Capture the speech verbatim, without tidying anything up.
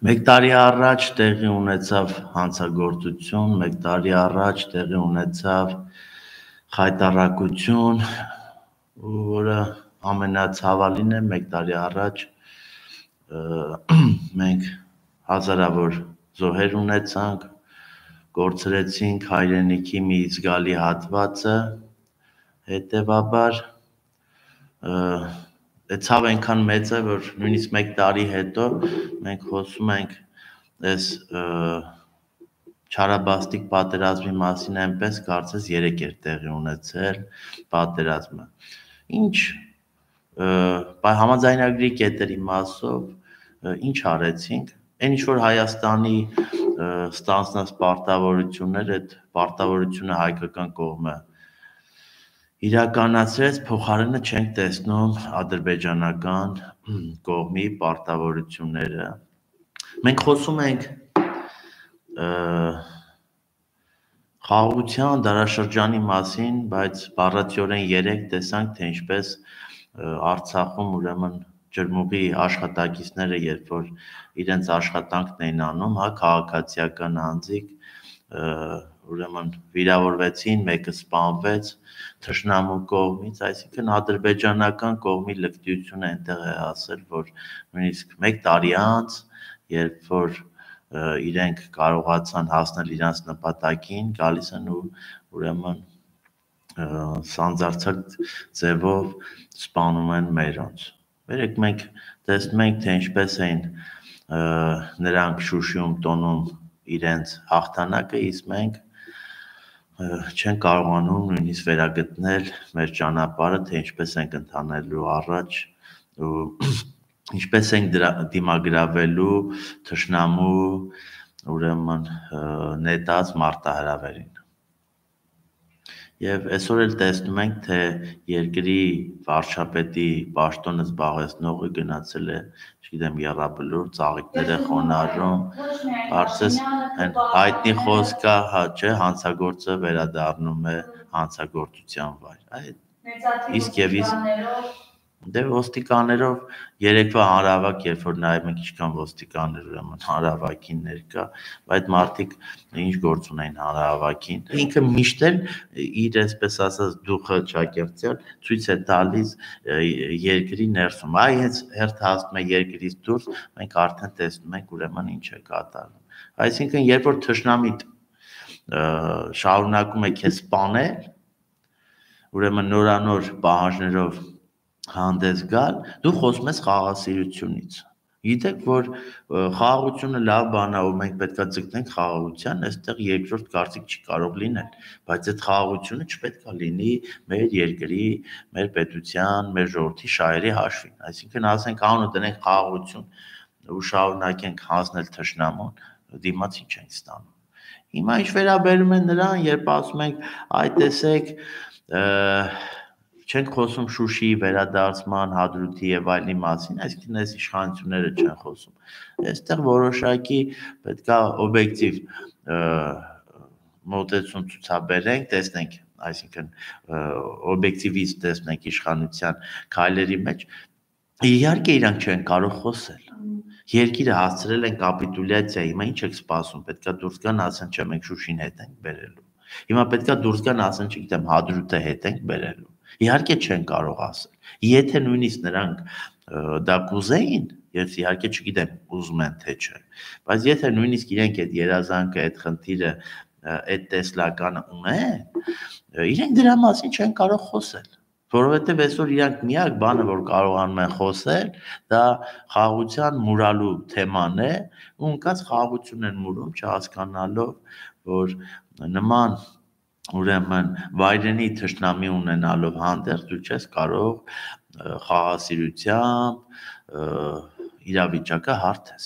Մեկ տարի առաջ տեղի ունեցավ հանցագործություն, մեկ տարի առաջ տեղի ունեցավ խայտառակություն, որը ամենացավալին է, մեկ տարի առաջ մենք հազարավոր զոհեր ունեցանք, կորցրեցինք հայրենիքի մի զգալի հատվածը, հետևաբար Ցավ այնքան մեծ է, որ նույնիսկ մեկ տարի հետո մենք խոսում ենք այս չարաբաստիկ պատերազմի մասին այնպես, կարծես երեկ էր տեղի ունեցել պատերազմը։ Ինչ համաձայնագրի կետերի մասով ինչ արեցինք, այն ինչ որ Հայաստանի ստանձնած պարտավորություններ, այդ պարտավորությունը հայկական կողմը իրականացրեց, փոխարենը չենք տեսնում ադրբեջանական կողմի պարտավորությունները։ Մենք խոսում ենք խաղաղության դարաշրջանի մասին, բայց բառացիորեն երեք տեսանք, թե ինչպես Արցախում ուրեմն ջրմուղի աշխատակիցները, երբ որ իրենց աշխատանքն էին անում, հա, քաղաքացիական անձիկ, ուրեմն վիրավորվեցին, մեկը սպանվեց թշնամու կողմից, այսինքն ադրբեջանական կողմի լկտիությունը այնտեղ է հասել, որ նույնիսկ մեկ տարի անց, երբ որ իրենք կարողացան հասնել իրանց նպատակին, գալիս են ու ուրեմն սանձարձակ ձևով սպանում են մերոնց։ Վերեք մենք տեսնում ենք, թե ինչպես էին նրանք Շուշիում տոնում իրենց հաղթանակը, իսկ մենք չեն կարողանում նույնիսկ վերագտնել մեր ճանապարհը, թե ինչպես ենք ընթանելու առաջ ու ինչպես ենք դիմագրավելու թշնամու ուրեմն նետած մարտահրավերին։ Եվ այսօր էլ տեսնում ենք, թե երկրի վարչապետի պաշտոնը զբաղեցնողը գնացել է, չգիտեմ, եռաբլուր, ծաղիկներ է խոնարհում, կարծես այն հայտնի խոսքը, հա, չէ, հանցագործը վերադառնում է հանցագործության վայր։ Իսկ եւ իսկ Դե ոստիկաններով երեկվա հանրահավաք, երբ որ նայում ենք ինչքան ոստիկաններ ուրեմն հանրահավաքին ներկա, բայց մարդիկ ինչ գործ ունեն հանրահավաքին։ Ինքը միշտ էլ իր այսպես ասած դուխը ճակերտյալ ցույց է տալիս երկրի ներսում։ Այ հենց հերթը հասնում է երկրից դուրս, մենք արդեն տեսնում ենք ուրեմն ինչ է կատարվում։ Այսինքն երբ որ թշնամիտ շարունակում է քեզ սպանել, ուրեմն նորանոր պահանջներով հանդես գալ, դու խոսում ես խաղաղասիրությունից։ Գիտեք, որ խաղաղությունը լավ բան է, ու մենք պետքա ձգտենք խաղաղության, այստեղ երկրորդ կարծիք չի կարող լինել, բայց այդ խաղաղությունը չպետք է լինի մեր երկրի, մեր պետության, մեր ժողովրդի շահերի հաշվին։ Այսինքն ասենք անունը դնենք խաղաղություն ու շարունակենք հանձնել թշնամուն, դիմացի չենք ստանում։ Հիմա ինչ վերաբերում է նրան, երբ ասում ենք, այ տեսեք, չենք խոսում Շուշիի վերադարձման, Հադրութի եւ այլնի մասին, այսինքն այս իշխանությունները չեն խոսում։ Այստեղ որոշակի պետքա օբյեկտիվ մոտեցում ցուցաբերենք, տեսնենք, այսինքն օբյեկտիվից տեսնենք իշխանության քայլերի մեջ, իհարկե իրանք չեն կարող խոսել։ Երկիրը հասցրել են կապիտուլյացիա, հիմա ինչ եք սպասում, պետքա դուրս գան, ասեն, չէ, մենք Շուշին հետ ենք բերելու։ Հիմա պետքա դուրս գան, ասեն, չգիտեմ, Հադրութը հետ ենք բերելու։ Իհարկե չեն կարող ասել։ Եթե նույնիսկ նրանք դա կուզեին, ես իհարկե չգիտեմ, ուզում են թե չէ, բայց եթե նույնիսկ իրենք այդ երազանքը, այդ խնդիրը, այդ տեսլականը ունեն, իրենք դրա մասին չեն կարող խոսել, որովհետև այսօր իրանք միակ բանը, որ կարողանում են խոսել, դա խաղաղության մուրալու թեման է, ու ընկած խաղաղություն են մուրում, չհասկանալով, որ նման ուրեմն վայրենի թշնամի ունենալով հանդերձ դու չես կարող խաղաղասիրությամբ իրավիճակը հարթես։